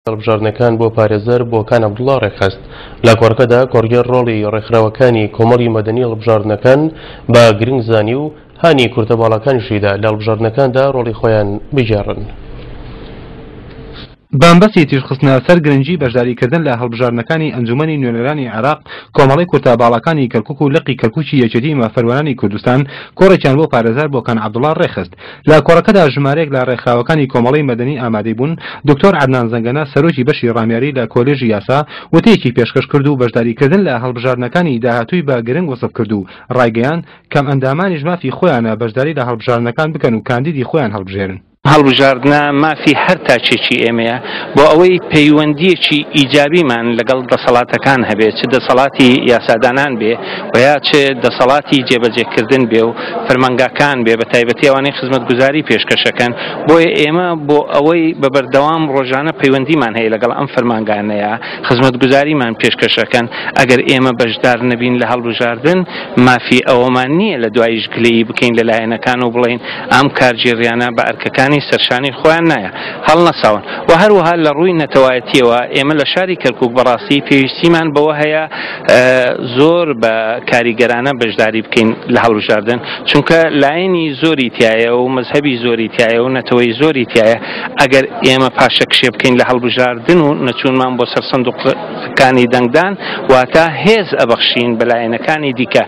هەڵبژاردنەکان بۆ پارێزەر بۆکان عەبدوڵا ڕێکخست. لە کۆڕەکەدا کۆڕگێڕ ڕۆڵی ڕێکخراوەکانی کۆمەڵی مەدەنی هەڵبژاردنەکان بە گرنگ زانی و هانی کورتە باڵاکانیشی دا لە هەڵبژاردنەکاندا ڕۆڵی خۆیان بگێڕن. بەمەبەستی تیشکخستنە سەر گرنگی بەشداریکردن لە هەڵبژاردنەکانی ئەنجومەنی نوێنەرانی عێراق، کۆمەڵەی کورتە باڵاکانی کەرکوک و لقی کەرکوکی یەکێتی مافپەروەرانی کوردستان کۆڕێکیان بۆ پارێزەر بۆکان عەبدوڵا ڕێکخست. لە کۆڕەکەدا ژمارەیەک لە ڕێکخراوەکانی کۆمەڵەی مەدەنی ئامادەی بوون، دکتۆر عەدنان زەنگەنە سەرۆکی بەشی ڕامیاری لە کۆلێژی یاسا وتەیەکی پێشکەش کرد و بەشداریکردن لە هەڵبژاردنەکانی داهاتووی بە گرنگ وەسف کرد و ڕایگەیاند، کەمئەندامانیش مافی خۆیانە بەشداری لە هەڵبژاردنەکان بکەن و کاندیدی خۆیان هەڵبژێرن. هەڵبژاردنە مافی هەر تاکێکی ئێمەیە بۆ ئەوەی پەیوەندییەکی ئیجابیمان لەگەڵ دەسەڵاتەکان هەبێ چ دەسەڵاتی یاسادانان بێ و یا چ دەسەڵاتی جێبەجێکردن بێ و فەرمانگاکان بێ بە تایبەتی ئەوانەی خزمەتگوزاری پێشکەشەکەن بۆیە ئێمە بۆ ئەوەی بە بەردەوام ڕۆژانە پەیوەندیمان هەیە لەگەڵ ئەم فەرمانگانەیە خزمەتگوزاریمان پێشکەشەکەن ئەگەر ئێمە بەشدار نەبین لە هەڵبژاردن مافی ئەوەمان نییە لە دواییش گلەیی بکەین لە لایەنەکان و بڵێین ئەم کارگێڕیانە بە ئەرکەکانی سەرشانی خۆیان نایە هەڵنەساون و هەروەها لە ڕووی نەتەوایەتیەوە ئێمە لە شاری کەرکوک بەڕاستی پێویستیمان بەوە هەیە زۆر بە کاریگەرانە بەشداری بکەین لە هەڵبژاردن چونکە لایەنی زۆری تایە و مەزهەبی زۆری تایە و نەتەوەی زۆری تایە ئەگەر ئێمە پاشەکشێ بکەین لە هەڵبژاردن و نەچوونمان بۆ سەر سندوقەکانی دەنگدان واتە هێز ئەبەخشین بە لایەنەکانی دیکە.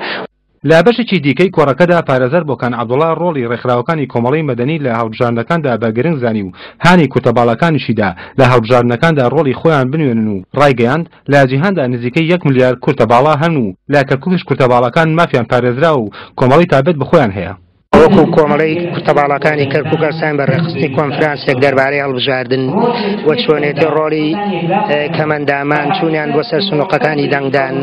لە بەشێکی دیکەی کۆڕەکەدا پارێزەر بۆکان عەبدوڵا ڕۆڵی ڕێکخراوەکانی کۆمەڵەی مەدەنی لە هەڵبژاردنەکاندا بە گرنگ زانی و هانی کورتە باڵاکانیشی دا لە هەڵبژاردنەکاندا ڕۆڵی خۆیان بنوێنن و ڕایگەیاند لە جیهاندا نزیکەی یەک ملیار کورتە باڵا هەن و لە کەرکوکیش کورتە باڵاکان مافیان پارێزراوە و کۆمەڵەی تابەت بە خۆیان هەیە. وەکو کۆمەڵەی کورتەباڵاکانی کەرکوک هەستاین بە ڕێکخستنی کۆنفرانسێک دەربارەی هەڵبژاردن و چۆنێتی ڕۆڵی کەمەندامان چوونیان بۆ سەر سنوقەکانی دەنگدان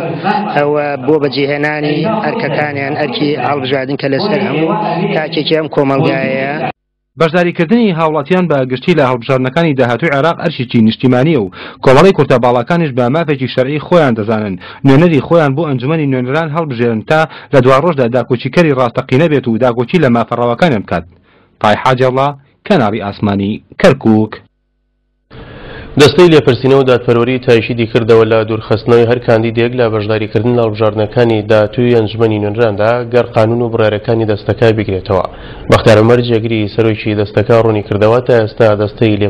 و بۆ بەجێهێنانی ئەرکەکانیان ئەرکی هەڵبژاردن کە لەسەر هەموو تاکێکی ئەم کۆمەڵگایەیە. بەشداریکردنی هاوڵاتیان بە گشتی لە هەڵبژاردنەکانی داهاتووی عێراق ئەرکێکی نیشتیمانییە و کۆمەڵەی کورتە باڵاکانیش بە مافێکی شەرعی خۆیان دەزانن نوێنەری خۆیان بۆ ئەنجومەنی نوێنەران هەڵبژێرن تا لە دواڕۆژدا داکۆکیکەری ڕاستەقینە بێت و داکۆکی لە مافە ڕەواکانیان بکات. تای حاجیەڵڵا، کەناڵی ئاسمانی، کەرکوک. دەستەی لێپرسینەوە و دادپەروەری تاکیدی کردەوە لە دوورخستنەوەی هەر کاندیدێک لە بەشداریکردن لە هەڵبژاردنەکانی داهاتووی ئەنجومەنی نوێنەراندا گەر قانون و بڕیارەکانی دەستەکە بگرێتەوە. بەختیار عومەر جێگری سەرۆکی دەستەکە ڕوونیکردەوە تا ئێستا دەستەی لێ.